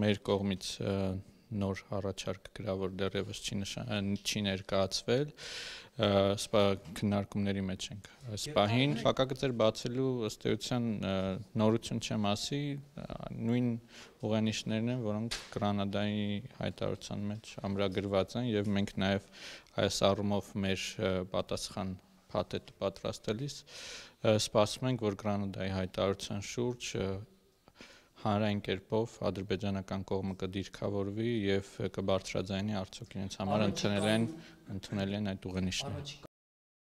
մեր կողմից նոր առաջարկ գրավոր դեռևս չի ներկայացվել, սպա քննարկումների մեջ ենք այս պահին, փակագծեր բացելու ըստ էության նորություն չեմ ասի, նույն ուղենիշներն են, որոնք Գրանադայի հայտարարության մեջ ամրագրված են եւ մենք նաեւ այս առումով մեր պատասխան փաթեթը պատրաստելիս սպասում ենք, որ Գրանադայի հայտարարության շուրջ հանրային կերպով ադրբեջանական կողմը կդիրքավորվի եւ կբարձրաձայնի արդյոք իրենց համար ընդունել են այդ ուղենիշները։